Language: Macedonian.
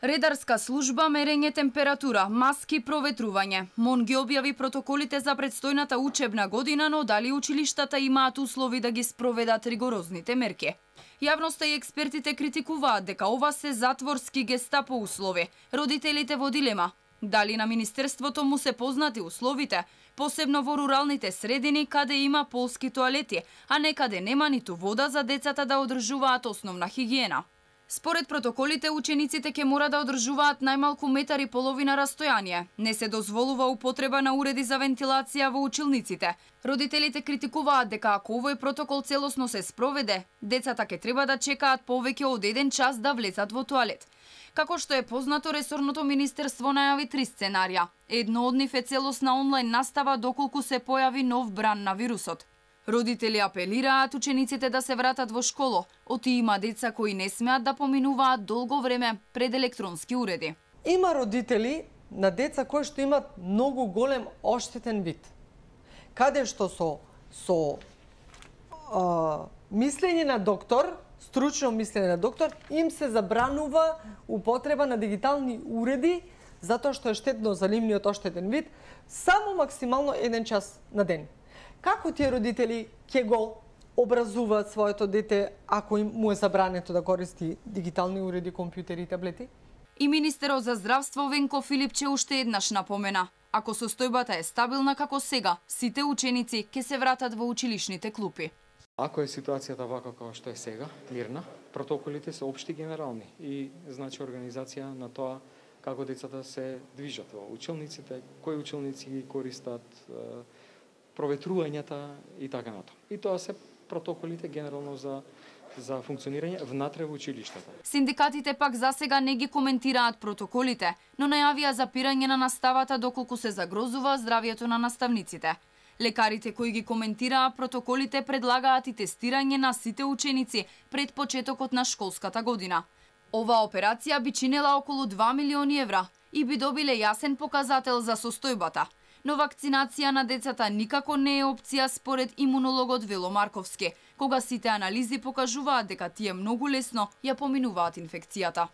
Редарска служба, мерење температура, маски, проветрување. МОН ги објави протоколите за предстојната учебна година, но дали училиштата имаат услови да ги спроведат ригорозните мерки? Јавноста и експертите критикуваат дека ова се затворски гестапо услови. Родителите во дилема. Дали на Министерството му се познати условите, посебно во руралните средини каде има полски тоалети, а некаде нема ниту вода за децата да одржуваат основна хигиена. Според протоколите, учениците ќе мора да одржуваат најмалку 1,5 метри растојание. Не се дозволува употреба на уреди за вентилација во училниците. Родителите критикуваат дека ако овој протокол целосно се спроведе, децата ќе треба да чекаат повеќе од 1 час да влезат во тоалет. Како што е познато, ресорното министерство најави 3 сценарија. Едно од нив е целосна онлайн настава доколку се појави нов бран на вирусот. Родители апелираат учениците да се вратат во школо. Оти има деца кои не смеат да поминуваат долго време пред електронски уреди. Има родители на деца кои што имат многу голем оштетен вид. Каде што со мислење на доктор, стручно мислење на доктор, им се забранува употреба на дигитални уреди затоа што е штетно за нивниот оштетен вид, само максимално 1 час на ден. Како тие родители ќе го образуваат своето дете ако му е забрането да користи дигитални уреди, компјутери и таблети? И министерот за здравство Венко Филипче уште еднаш напомена. Ако состојбата е стабилна како сега, сите ученици ќе се вратат во училишните клупи. Ако е ситуацијата вака како што е сега, мирна, протоколите се општи генерални и значи организација на тоа како децата се движат во училниците, кои училници ги користат, проветрувањата и така натаму. И тоа се протоколите генерално за функционирање внатре во училиштата. Синдикатите пак засега не ги коментираат протоколите, но најавија запирање на наставата доколку се загрозува здравјето на наставниците. Лекарите кои ги коментираа протоколите предлагаат и тестирање на сите ученици пред почетокот на школската година. Оваа операција би чинела околу 2 милиони евра и би добиле јасен показател за состојбата. Но вакцинација на децата никако не е опција според имунологот Вело Марковски, кога сите анализи покажуваат дека тие многу лесно ја поминуваат инфекцијата.